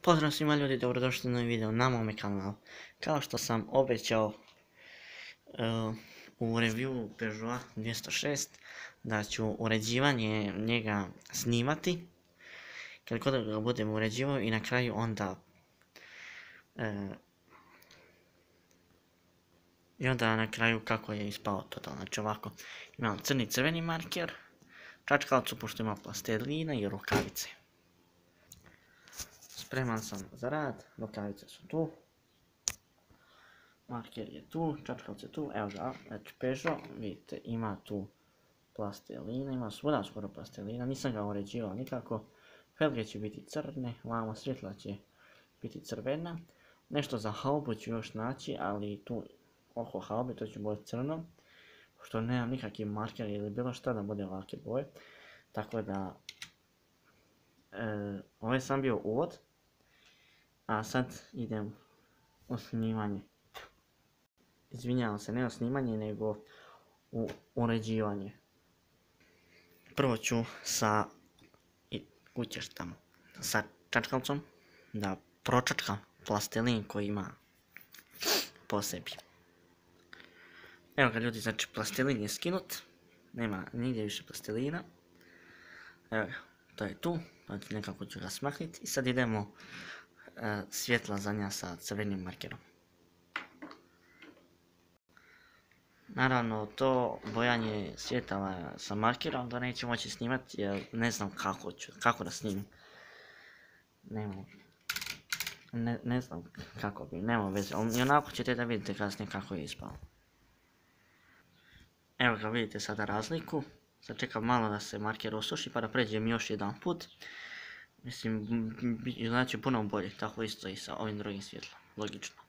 Pozdrav svima ljudi, dobrodošli na novi video na mome kanalu. Kao što sam obećao u review Peugeot 206 da ću uređivanje njega snimati kad god ga budem uređivao i na kraju onda na kraju kako je ispao total. Znači ovako, imam crni crveni marker, čačkalcu pošto ima plastelina i rukavice. Spreman sam za rad, rukavice su tu, marker je tu, čačkalac je tu, evo ga, znači Peugeot, vidite ima tu plastelina, ima svuda skoro plastelina, nisam ga uređivao nikako, felge će biti crne, vamo svjetla će biti crvena, nešto za haubu ću još naći, ali tu oko haube to će biti crno, što nemam nikakvi marker ili bilo šta da bude ovakve boje, tako da ovo je sam bio uvod, a sad idem u snimanje. Izvinjavam se, ne u snimanje, nego u uređivanje. Prvo ću sa čačkalcom da pročačkam plastelin koji ima po sebi. Evo ga ljudi, znači plastelin je skinut, nema nigdje više plastelina. Evo ga, to je tu, znači nekako ću ga smakniti i sad idemo svjetla zadnja sa crvenim markerom. Naravno, to bojanje svjetala sa markerom da neću moći snimati jer ne znam kako da snimim. Ne znam kako bi, nema veze, ali onako ćete da vidite kasnije kako je ispalo. Evo ga, vidite sada razliku. Sad čekam malo da se marker osuši pa da pređem još jedan put. Mislim, znači puno bolje, tako isto i sa ovim drugim svjetlom, logično.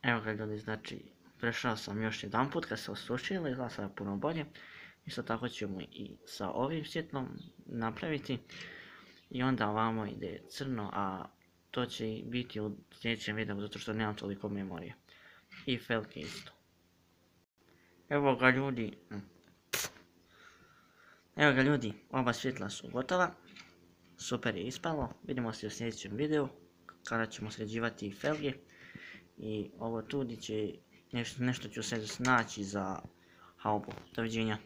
Evo ga ljudi, znači prešao sam još jedan put kad se osušilo, izgleda sada puno bolje. Isto tako ćemo i sa ovim svjetlom napraviti. I onda ovamo ide crno, a to će biti u sljedećem videu zato što nemam toliko memorije. I felke isto. Evo ga ljudi, oba svjetla su gotova. Super je ispalo, vidimo se u sljedećem videu kada ćemo sređivati felge. I ovo tu gdje će nešto ću se snaći za haubu. Doviđenja.